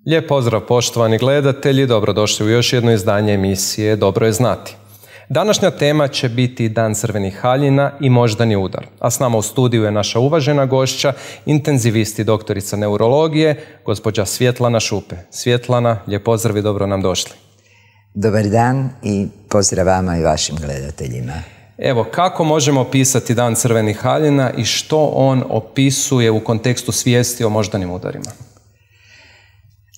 Lijep pozdrav poštovani gledatelji, dobrodošli u još jedno izdanje emisije Dobro je znati. Današnja tema će biti Dan crvenih haljina i moždani udar, a s nama u studiju je naša uvažena gošća, intenzivist i doktorica neurologije, gospođa Svjetlana Šupe. Svjetlana, lijep pozdrav i dobro nam došli. Dobar dan i pozdrav vama i vašim gledateljima. Evo, kako možemo opisati Dan crvenih haljina i što on opisuje u kontekstu svijesti o moždanim udarima?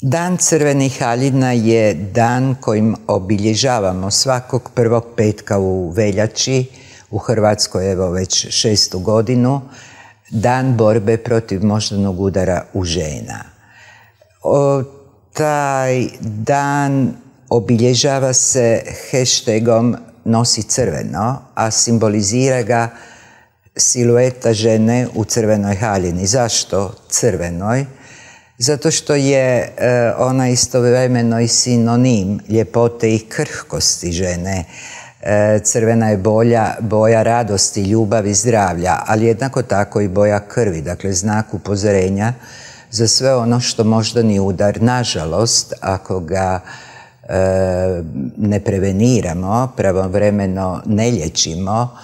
Dan crvenih haljina je dan kojim obilježavamo svakog prvog petka u veljači, u Hrvatskoj evo već 6. godinu, Dan borbe protiv moždanog udara u žena. Taj dan obilježava se hashtagom Nosi crveno, a simbolizira ga silueta žene u crvenoj haljini. Zašto crvenoj? Zato što je ona istovremeno i sinonim ljepote i krhkosti žene. Crvena je boja radosti, ljubavi, zdravlja, ali jednako tako i boja krvi, dakle znak upozorenja za sve ono što moždani udar, nažalost, ako ga ne preveniramo, pravovremeno ne liječimo,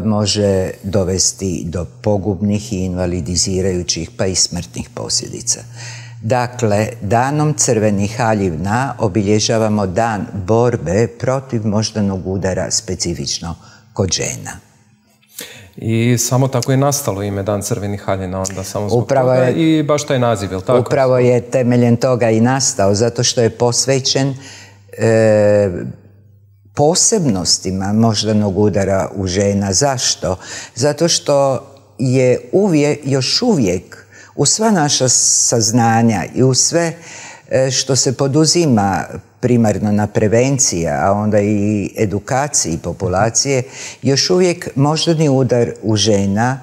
može dovesti do pogubnih i invalidizirajućih pa i smrtnih posljedica. Dakle, danom crvenih haljina obilježavamo dan borbe protiv moždanog udara specifično kod žena. I samo tako je nastalo ime Dan crvenih haljina, onda samo zbog toga i baš taj naziv, je li tako? Upravo je temeljem toga i nastao, zato što je posvećen posebnostima moždanog udara u žena. Zašto? Zato što je još uvijek u sva naša saznanja i u sve što se poduzima primarno na prevenciji, a onda i edukaciji populacije, još uvijek moždani udar u žena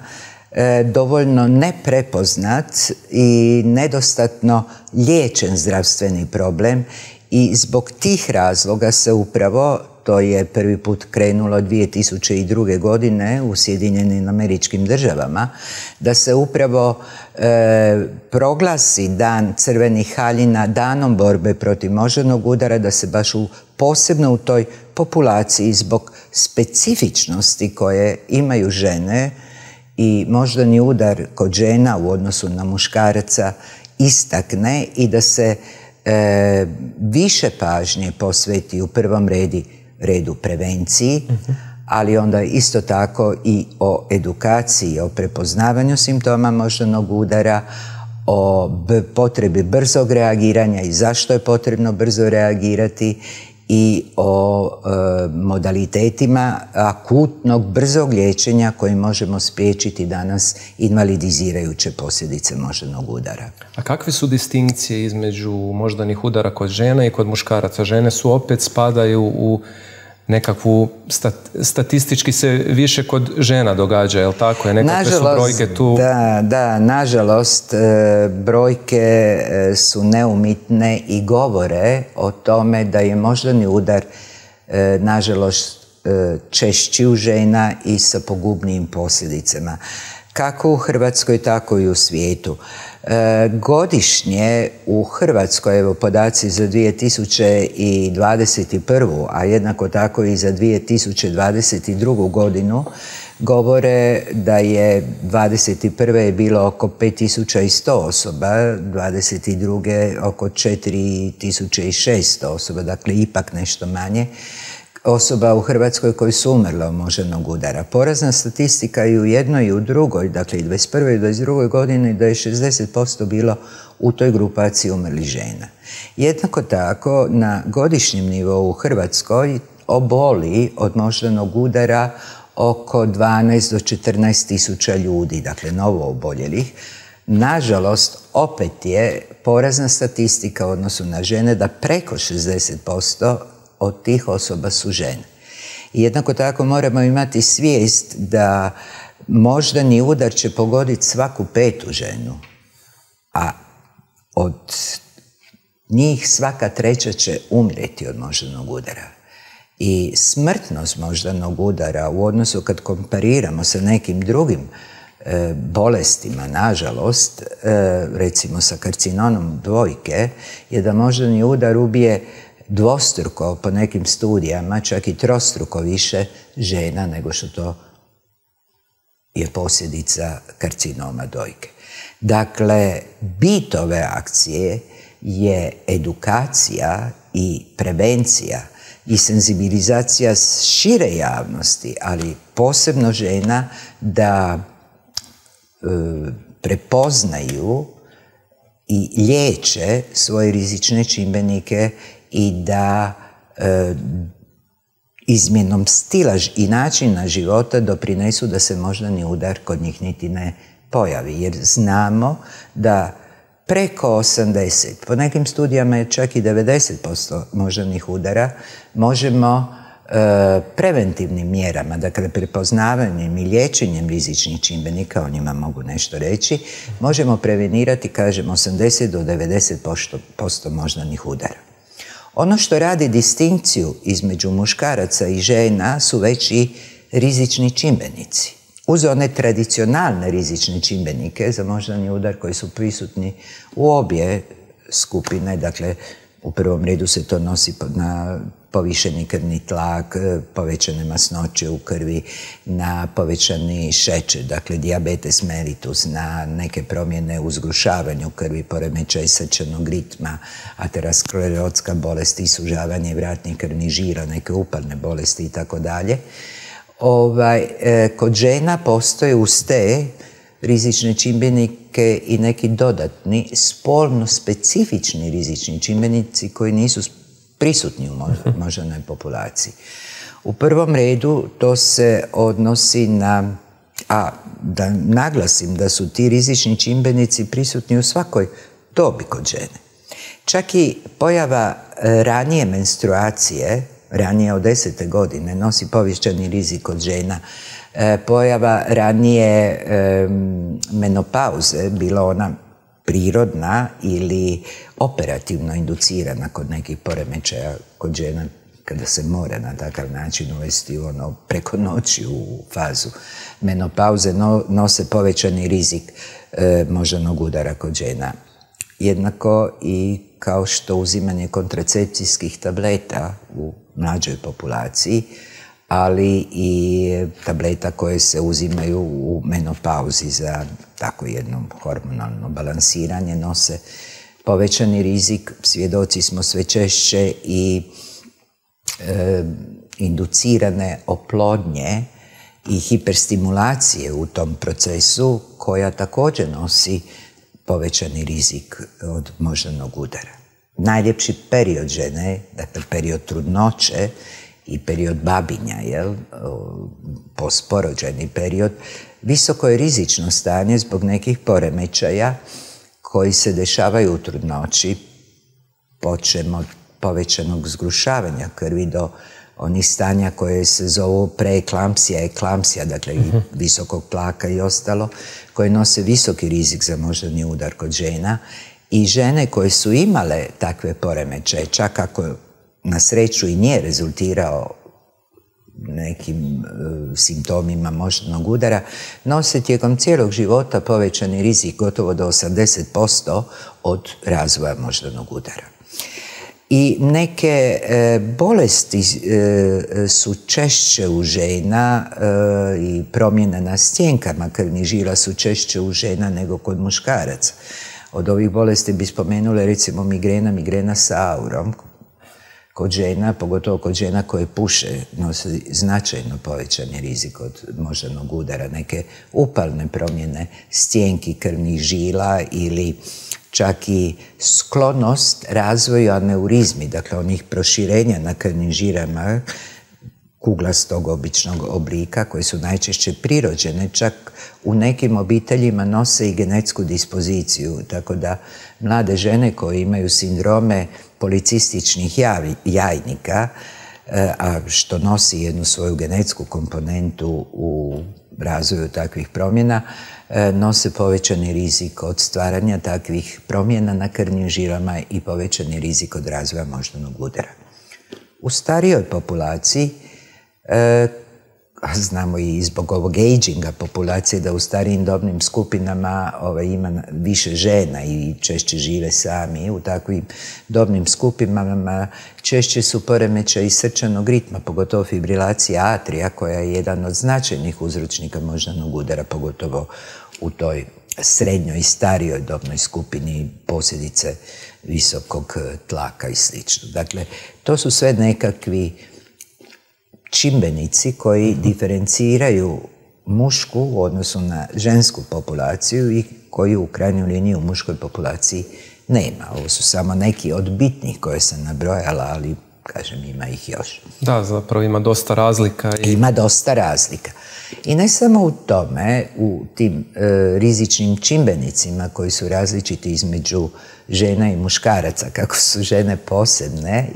dovoljno neprepoznat i nedostatno liječen zdravstveni problem i zbog tih razloga se upravo, to je prvi put krenulo 2002. godine u Sjedinjenim Američkim Državama, da se upravo proglasi Dan crvenih haljina danom borbe protiv moždanog udara, da se baš posebno u toj populaciji zbog specifičnosti koje imaju žene i moždani udar kod žena u odnosu na muškaraca istakne i da se više pažnje posveti u prvom redu prevenciji, ali onda isto tako i o edukaciji, o prepoznavanju simptoma moždanog udara, o potrebi brzog reagiranja i zašto je potrebno brzo reagirati i o modalitetima akutnog, brzog liječenja koji možemo spriječiti danas invalidizirajuće posljedice moždanog udara. A kakve su distinkcije između moždanih udara kod žena i kod muškaraca? Žene su opet spadaju u nekakvu, statistički se više kod žena događa, je li tako? Nekakve su brojke tu? Da, nažalost, brojke su neumitne i govore o tome da je moždani udar, nažalost, češći u žena i sa pogubnijim posljedicama. Kako u Hrvatskoj, tako i u svijetu. Godišnje u Hrvatskoj, evo podaci za 2021. a jednako tako i za 2022. godinu, govore da je 2021. je bilo oko 5100 osoba, 2022. oko 4600 osoba, dakle ipak nešto manje osoba u Hrvatskoj koji su umrle od moždanog udara. Porazna statistika i u jednoj i u drugoj, dakle i 21. i 22. godini, da je 60% bilo u toj grupaciji umrlih žena. Jednako tako, na godišnjem nivou u Hrvatskoj oboli od moždanog udara oko 12 do 14 tisuća ljudi, dakle novo oboljelih. Nažalost, opet je porazna statistika u odnosu na žene da preko 60% od tih osoba su žene. I jednako tako moramo imati svijest da moždani udar će pogoditi svaku 5. ženu, a od njih svaka 3. će umrijeti od moždanog udara. I smrtnost moždanog udara u odnosu kad kompariramo sa nekim drugim bolestima, nažalost, recimo sa karcinomom dojke, je da moždani udar ubije dvostruko, po nekim studijama, čak i trostruko više žena nego što to je posljedica karcinoma dojke. Dakle, bit ove akcije je edukacija i prevencija i senzibilizacija šire javnosti, ali posebno žena, da prepoznaju i liječe svoje rizične čimbenike i da izmjenom stila i načina života doprinesu da se moždani udar kod njih niti ne pojavi. Jer znamo da preko 80, po nekim studijama je čak i 90% moždanih udara, možemo preventivnim mjerama, dakle prepoznavanjem i liječenjem rizičnih čimbenika, o njima mogu nešto reći, možemo prevenirati, kažem, 80 do 90% moždanih udara. Ono što radi distinkciju između muškaraca i žena su već i rizični čimbenici. Uz one tradicionalne rizične čimbenike za moždani udar koji su prisutni u obje skupine, dakle u prvom redu se to nosi na povišeni krvni tlak, povećane masnoće u krvi, na povećani šećer, dakle dijabetes mellitus, na neke promjene u zgrušavanju krvi, poremećaj srčanog ritma, aterosklerotska bolest i sužavanje vratnih krvnih žila, neke upalne bolesti i tako dalje. Kod žena postoje uz te rizične čimbenike i neki dodatni, spolno specifični rizični čimbenici koji nisu prisutni u moždanoj populaciji. U prvom redu to se odnosi na, da naglasim da su ti rizični čimbenici prisutni u svakoj dobi kod žene. Čak i pojava ranije menstruacije, ranije od 10. godine, nosi povećani rizik kod žena. Pojava ranije menopauze, bila ona prirodna ili operativno inducirana kod nekih poremećaja kod žena, kada se mora na takav način uvesti preko noći u fazu menopauze, nose povećani rizik moždanog udara kod žena. Jednako i kao što uzimanje kontracepcijskih tableta u mlađoj populaciji, ali i tableta koje se uzimaju u menopauzi za tako jedno hormonalno balansiranje, nose povećani rizik. Svjedoci smo sve češće i inducirane oplodnje i hiperstimulacije u tom procesu, koja također nosi povećani rizik od moždanog udara. Najljepši period žene, dakle period trudnoće i period babinja, postporođajni period, visoko je rizično stanje zbog nekih poremećaja koji se dešavaju u trudnoći, počem od povećanog zgrušavanja krvi do onih stanja koje se zovu preeklampsija, eklampsija, dakle i visokog tlaka i ostalo, koje nose visoki rizik za moždani udar kod žena. I žene koje su imale takve poremećaje, čak ako na sreću i nije rezultirao nekim simptomima moždanog udara, nose tijekom cijelog života povećani rizik gotovo do 80% od razvoja moždanog udara. I neke bolesti su češće u žena i promjene na stjenkama krvnih žila su češće u žena nego kod muškaraca. Od ovih bolesti bi spomenule recimo migrena sa aurom. Kod žena, pogotovo kod žena koje puše, nosi značajno povećani rizik od moždanog udara. Neke upalne promjene stjenki krvnih žila ili čak i sklonost razvoju aneurizmi, dakle onih proširenja na krvnim žilama kuglastog običnog oblika, koje su najčešće prirođene, čak u nekim obiteljima nose i genetsku dispoziciju, tako da mlade žene koje imaju sindrome policističnih jajnika, a što nosi jednu svoju genetsku komponentu u razvoju takvih promjena, nose povećani rizik od stvaranja takvih promjena na krvnim žilama i povećani rizik od razvoja moždanog udara. U starijoj populaciji, znamo i zbog ovog aginga populacije da u starijim dobnim skupinama ima više žena i češće žive sami. U takvim dobnim skupinama češće su poremećaji srčanog ritma, pogotovo fibrilacija atrija, koja je jedan od značajnih uzročnika moždanog udara, pogotovo u toj srednjoj i starijoj dobnoj skupini, posljedice visokog tlaka i sl. Dakle, to su sve nekakvi čimbenici koji diferenciraju mušku u odnosu na žensku populaciju i koji u krajnjoj liniji u muškoj populaciji nema. Ovo su samo neki od bitnih koje sam nabrojala, ali kažem, ima ih još. Da, zapravo ima dosta razlika. Ima dosta razlika. I ne samo u tome, u tim rizičnim čimbenicima koji su različiti između žena i muškaraca, kako su žene posebne,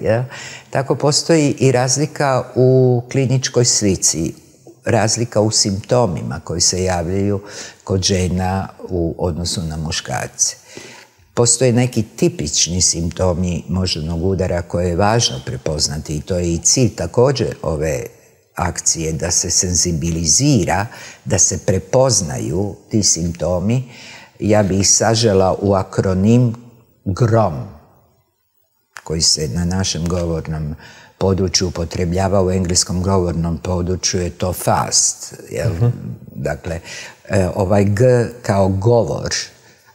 tako postoji i razlika u kliničkoj slici, razlika u simptomima koji se javljaju kod žena u odnosu na muškarce. Postoje neki tipični simptomi moždanog udara koje je važno prepoznati i to je i cilj također ove akcije, da se senzibilizira, da se prepoznaju ti simptomi. Ja bih ih sažela u akronim GROM, koji se na našem govornom području upotrebljava, u engleskom govornom području je to FAST. Dakle, ovaj G kao govor,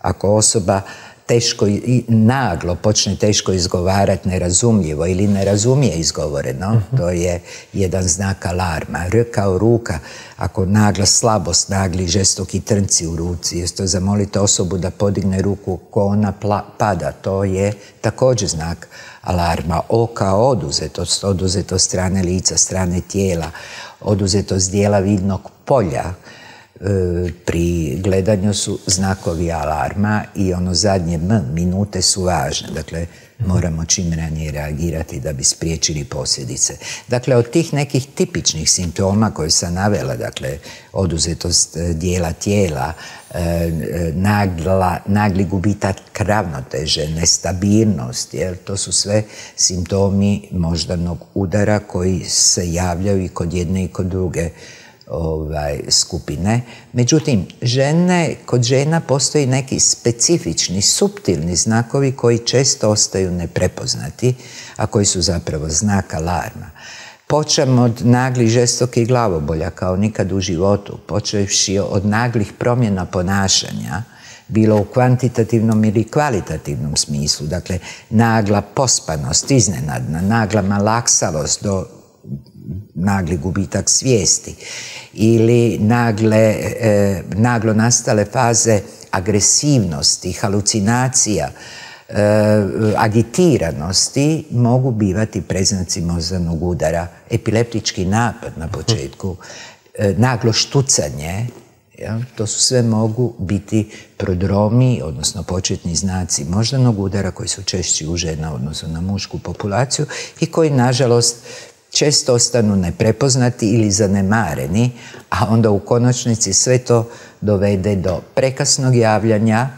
ako osoba teško i naglo počne teško izgovarati nerazumljivo ili ne razumije izgovoreno, to je jedan znak alarma. R kao ruka, ako nagla slabost, nagli žestoki trnci u ruci, jesto zamolite osobu da podigne ruku ko ona pada, to je također znak alarma. O kao oduzetost, oduzetost strane lica, strane tijela, oduzetost dijela vidnog polja, pri gledanju su znakovi alarma i ono zadnje minute su važne. Dakle, moramo čim ranije reagirati da bi spriječili posljedice. Dakle, od tih nekih tipičnih simptoma koje sam navela, dakle, oduzetost dijela tijela, nagli gubitak ravnoteže, nestabilnost, jer to su sve simptomi moždanog udara koji se javljaju i kod jedne i kod druge skupine. Međutim, kod žena postoji neki specifični, suptilni znakovi koji često ostaju neprepoznati, a koji su zapravo znak alarma. Počem od naglih žestokih glavobolja kao nikad u životu, počevši od naglih promjena ponašanja, bilo u kvantitativnom ili kvalitativnom smislu, dakle nagla pospanost, iznenadna, nagla malaksavost do nagli gubitak svijesti ili naglo nastale faze agresivnosti, halucinacija, agitiranosti mogu bivati preznaci moždanog udara. Epileptički napad na početku, naglo štucanje, to su sve mogu biti prodromi, odnosno početni znaci moždanog udara koji su češći u žena odnosno na mušku populaciju i koji, nažalost, često ostanu neprepoznati ili zanemareni, a onda u konačnici sve to dovede do prekasnog javljanja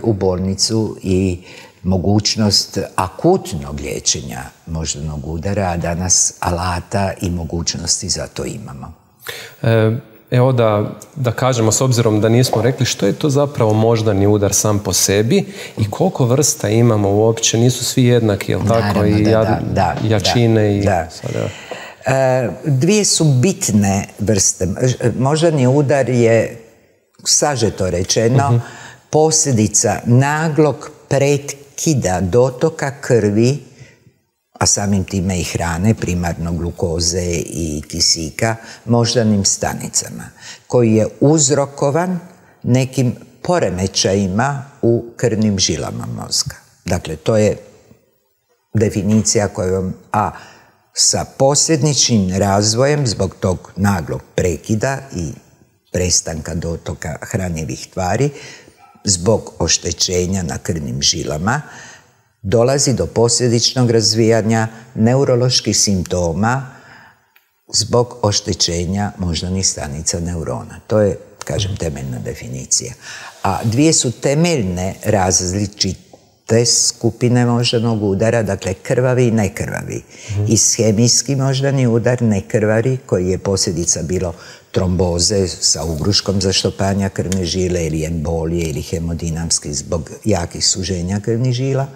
u bolnicu i mogućnost akutnog liječenja moždanog udara, a danas alata i mogućnosti za to imamo. Evo da kažemo, s obzirom da nismo rekli, što je to zapravo moždani udar sam po sebi i koliko vrsta imamo uopće, nisu svi jednaki, jel tako? I jačine i... Dvije su bitne vrste. Moždani udar je, sažeto rečeno, posljedica naglog prekida dotoka krvi, a samim time i hrane, primarno glukoze i kisika, moždanim stanicama, koji je uzrokovan nekim poremećajima u krvnim žilama mozga. Dakle, to je definicija kojom sa posljedičnim razvojem zbog tog naglog prekida i prestanka dotoka hranjivih tvari, zbog oštećenja na krvnim žilama, dolazi do posljedičnog razvijanja neuroloških simptoma zbog oštećenja moždanih stanica neurona. To je, kažem, temeljna definicija. A dvije su temeljne različite te skupine moždanog udara, dakle krvavi i nekrvavi. Ishemijski moždani udar, nekrvari, koji je posljedica bilo tromboze sa ugruškom zaštopanja krvne žile ili embolije ili hemodinamski zbog jakih suženja krvnih žila.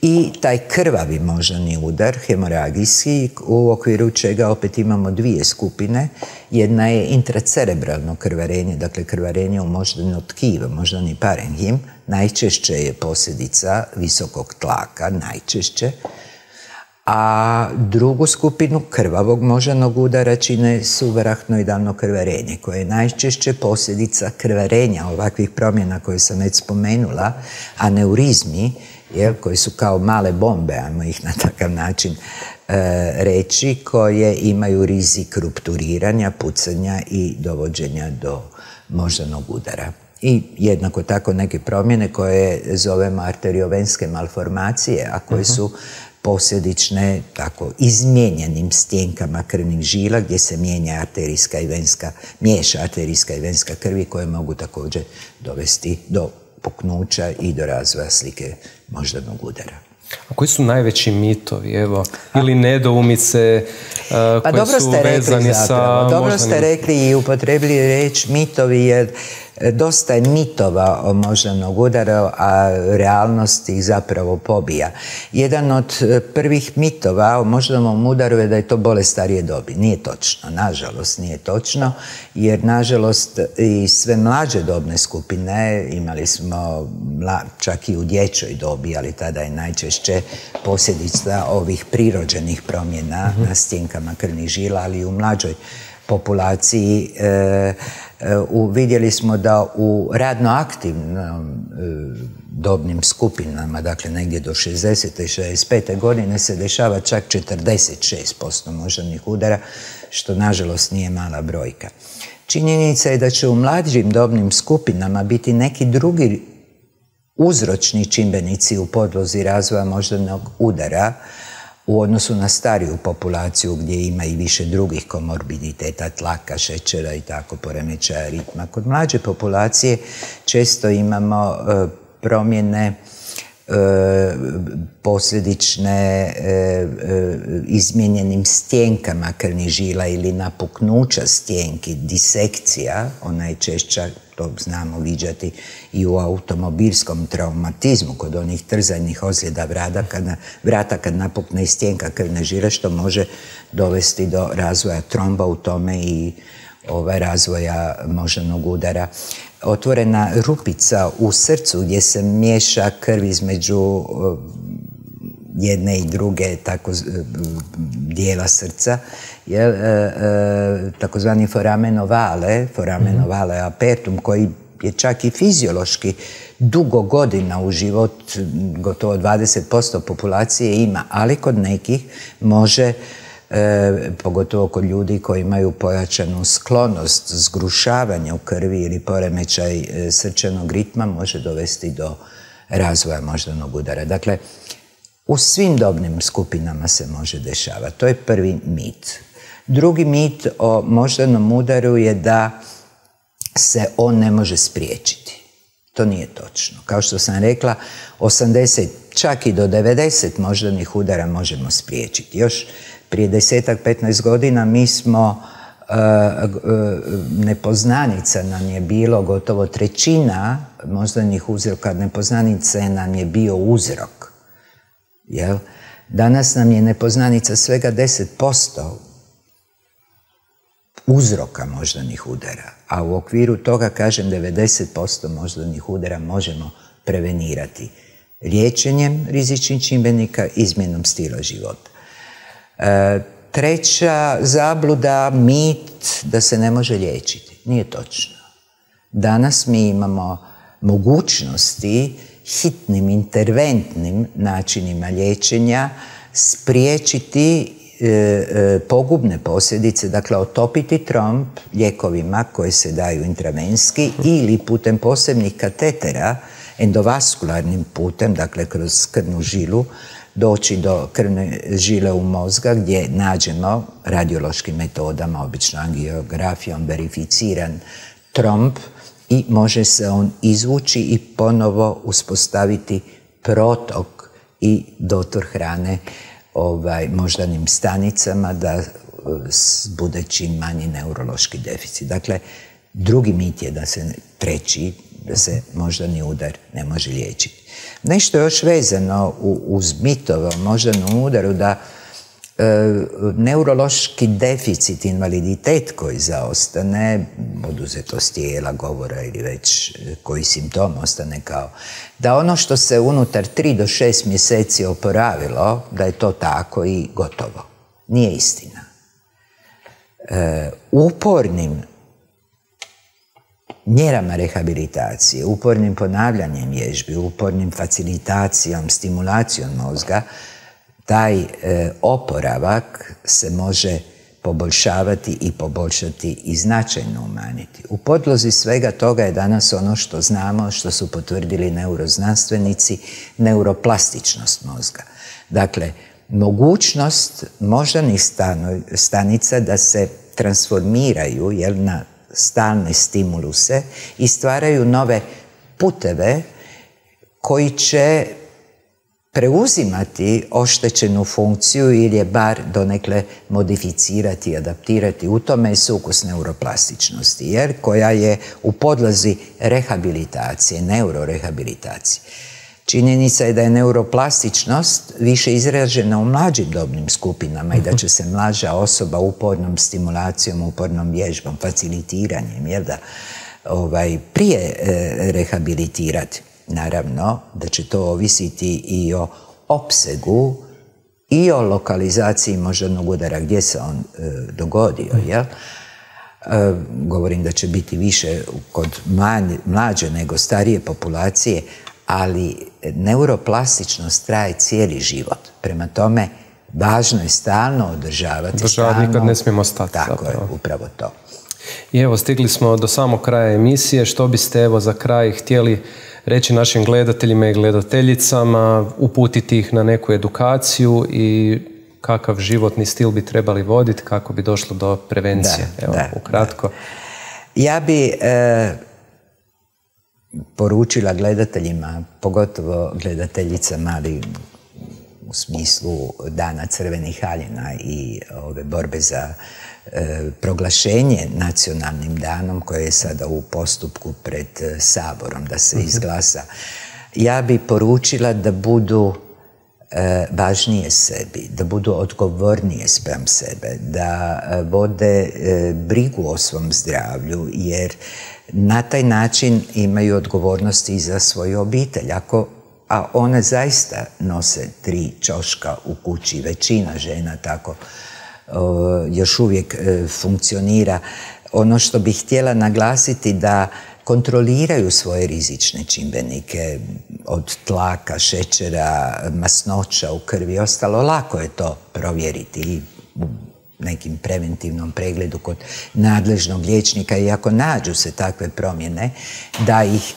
I taj krvavi moždani udar, hemoragijski, u okviru čega opet imamo dvije skupine. Jedna je intracerebralno krvarenje, dakle krvarenje u moždano tkivo, moždani parenhim. Najčešće je posljedica visokog tlaka, najčešće. A drugu skupinu krvavog moždanog udara čine subarahnoidalno krvarenje, koje je najčešće posljedica krvarenja ovakvih promjena koje sam već spomenula, aneurizmi, koji su kao male bombe, ajmo ih na takav način reći, koje imaju rizik rupturiranja, pucanja i dovođenja do moždanog udara. I jednako tako neke promjene koje zovemo arteriovenske malformacije, a koje su posljedične tako izmijenjenim stjenkama krvnih žila gdje se miješa arterijska i venska krvi, koje mogu također dovesti do puknuća i do razvoja slike moždanog udara. A koji su najveći mitovi, evo, ili nedoumice koje su vezani sa moždanim... Dobro ste rekli i upotrebili riječ mitovi, jer dosta je mitova o moždanog udara, a realnost ih zapravo pobija. Jedan od prvih mitova o moždanom udaru je da je to bolest starije dobi. Nije točno, nažalost nije točno, jer nažalost i sve mlađe dobne skupine, imali smo čak i u dječjoj dobi, ali tada je najčešće posljedica ovih prirođenih promjena na stjenkama krvnih žila, ali i u mlađoj populaciji vidjeli smo da u radno aktivnim dobnim skupinama, dakle negdje do 60. i 65. godine, se dešava čak 46% moždanih udara, što nažalost nije mala brojka. Činjenica je da će u mlađim dobnim skupinama biti neki drugi uzročni čimbenici u podlozi razvoja moždanog udara u odnosu na stariju populaciju gdje ima i više drugih komorbiditeta, tlaka, šećera i tako, poremećaja ritma. Kod mlađe populacije često imamo promjene posljedične izmijenjenim stjenkama krvnih žila ili napuknuća stjenki, disekcija, ona je češća, to znamo viđati i u automobilskom traumatizmu, kod onih trzajnih ozljeda vrata kad napukne stjenka krvne žile, što može dovesti do razvoja tromba u tome i razvoja moždanog udara. Otvorena rupica u srcu gdje se miješa krv između jedne i druge dijela srca, takozvani foramen ovale apertum, koji je čak i fiziološki dugo godina u život, gotovo 20% populacije ima, ali kod nekih može, pogotovo kod ljudi koji imaju pojačanu sklonost zgrušavanja u krvi ili poremećaj srčanog ritma, može dovesti do razvoja moždanog udara. Dakle, u svim dobnim skupinama se može dešavati. To je prvi mit. Drugi mit o moždanom udaru je da se on ne može spriječiti. To nije točno. Kao što sam rekla, 80, čak i do 90 moždanih udara možemo spriječiti. Još prije 10-15 godina mi smo, nepoznanica nam je bilo gotovo trećina moždanih uzroka, nepoznanice nam je bio uzrok. Danas nam je nepoznanica svega 10% uzroka moždanih udara, a u okviru toga, kažem, 90% moždanih udara možemo prevenirati liječenjem rizičnih čimbenika, izmjenom stila života. Treća zabluda, mit da se ne može liječiti. Nije točno. Danas mi imamo mogućnosti hitnim, interventnim načinima liječenja spriječiti pogubne posljedice, dakle otopiti tromb lijekovima koji se daju intravenski ili putem posebnih katetera, endovaskularnim putem, dakle kroz krvnu žilu, doći do krvne žile u mozga gdje nađemo radiološkim metodama, obično angiografijom, verificiran tromb i može se on izvući i ponovo uspostaviti protok i dotor hrane moždanim stanicama da bude čim manji neurološki deficit. Dakle, drugi mit je treći, da se moždani udar ne može liječiti. Nešto još vezano uz mitove o moždanom udaru, da neurološki deficit, invaliditet koji zaostane, oduzetost tijela, govora ili već koji simptom ostane kao, da ono što se unutar 3 do 6 mjeseci oporavilo, da je to tako i gotovo. Nije istina. Upornim mjerama rehabilitacije, upornim ponavljanjem vježbi, upornim facilitacijom, stimulacijom mozga, taj oporavak se može poboljšavati i poboljšati i značajno umanjiti. U podlozi svega toga je danas ono što znamo, što su potvrdili neuroznanstvenici, neuroplastičnost mozga. Dakle, mogućnost moždanih stanica da se transformiraju na stalne stimuluse i stvaraju nove puteve koji će preuzimati oštećenu funkciju ili je bar donekle modificirati i adaptirati. U tome je sukus neuroplastičnosti, koja je u podlozi rehabilitacije, neurorehabilitacije. Činjenica je da je neuroplastičnost više izražena u mlađim dobnim skupinama i da će se mlađa osoba upornom stimulacijom, upornom vježbom, facilitiranjem, prije rehabilitirati. Naravno da će to ovisiti i o opsegu i o lokalizaciji moždanog udara, gdje se on dogodio. Govorim da će biti više kod mlađe nego starije populacije, ali neuroplastičnost traje cijeli život. Prema tome, važno je stalno održavati. Nikad ne smijemo stati. Tako je, upravo to. I evo, stigli smo do samog kraja emisije. Što biste za kraj htjeli reći našim gledateljima i gledateljicama, uputiti ih na neku edukaciju i kakav životni stil bi trebali voditi kako bi došlo do prevencije? Ukratko. Ja bi poručila gledateljima, pogotovo gledateljicama, ali u smislu Dana crvenih haljina i ove borbe za proglašenje nacionalnim danom koje je sada u postupku pred Saborom da se izglasa. Ja bi poručila da budu važnije sebi, da budu odgovornije spram sebe, da vode brigu o svom zdravlju, jer na taj način imaju odgovornosti i za svoju obitelj. A one zaista nose 3 ćoška u kući, većina žena tako još uvijek funkcionira. Ono što bih htjela naglasiti da kontroliraju svoje rizične čimbenike od tlaka, šećera, masnoća u krvi i ostalo. Lako je to provjeriti i u nekim preventivnom pregledu kod nadležnog liječnika i ako nađu se takve promjene da ih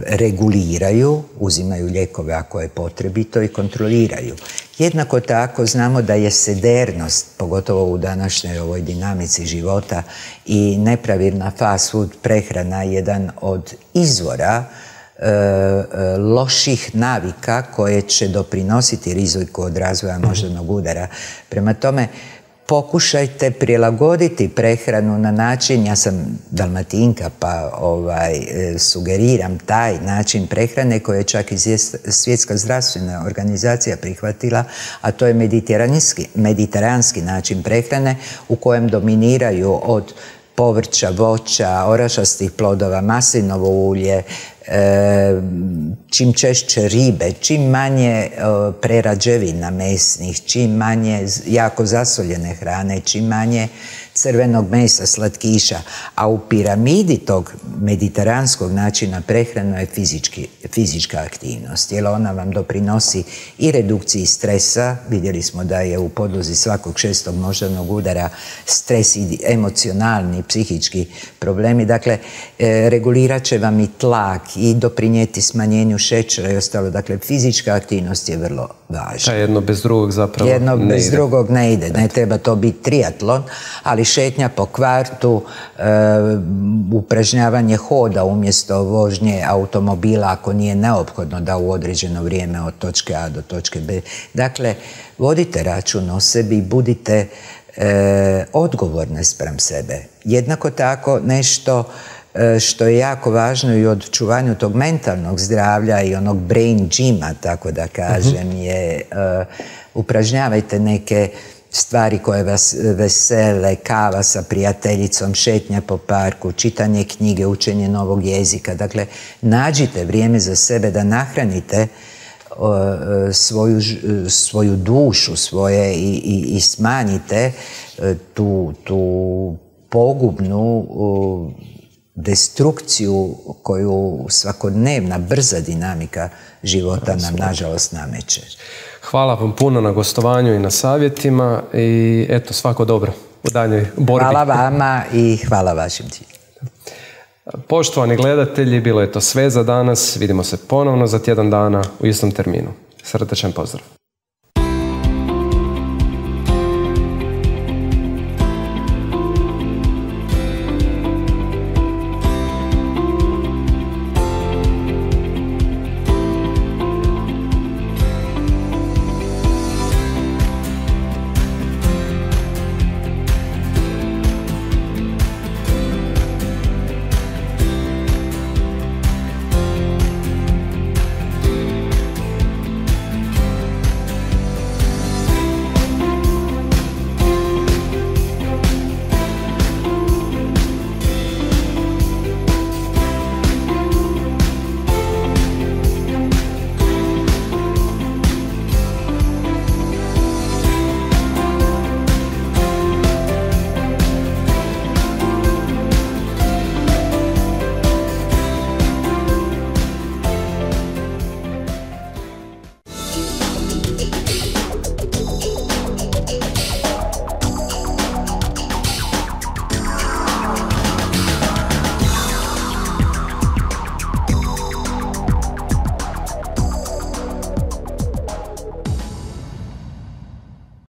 reguliraju, uzimaju lijekove ako je potrebito i kontroliraju. Jednako tako znamo da je sedernost, pogotovo u današnjoj ovoj dinamici života, i nepravilna fast food prehrana jedan od izvora loših navika koje će doprinositi riziku od razvoja moždanog udara. Prema tome, pokušajte prilagoditi prehranu na način, ja sam Dalmatinka pa sugeriram taj način prehrane koje je čak i Svjetska zdravstvena organizacija prihvatila, a to je mediteranski način prehrane u kojem dominiraju od povrća, voća, orašastih plodova, maslinovo ulje, čim češće ribe, čim manje prerađevina mesnih, čim manje jako zasoljene hrane, čim manje crvenog mesa, slatkiša, a u piramidi tog mediteranskog načina prehrane je fizička aktivnost, jer ona vam doprinosi i redukciji stresa. Vidjeli smo da je u podlozi svakog 6. moždanog udara stres i emocionalni, psihički problemi. Dakle, regulirat će vam i tlak i doprinijeti smanjenju šećera i ostalo. Dakle, fizička aktivnost je vrlo važna. Jedno bez drugog zapravo jedno bez drugog ne ide. Ne treba to biti triatlon, ali ali šetnja po kvartu, upražnjavanje hoda umjesto vožnje automobila ako nije neophodno da u određeno vrijeme od točke A do točke B. Dakle, vodite račun o sebi i budite odgovorne spram sebe. Jednako tako nešto što je jako važno i u očuvanju tog mentalnog zdravlja i onog brain gyma, tako da kažem, je upražnjavajte neke stvari koje vas vesele, kava sa prijateljicom, šetnja po parku, čitanje knjige, učenje novog jezika. Dakle, nađite vrijeme za sebe da nahranite svoju dušu svoje i smanjite tu pogubnu destrukciju koju svakodnevna brza dinamika života nam nažalost nameće. Hvala vam puno na gostovanju i na savjetima i eto, svako dobro u daljnjoj borbi. Hvala vama i hvala vašim ciljem. Poštovani gledatelji, bilo je to sve za danas. Vidimo se ponovno za tjedan dana u istom terminu. Srdečan pozdrav.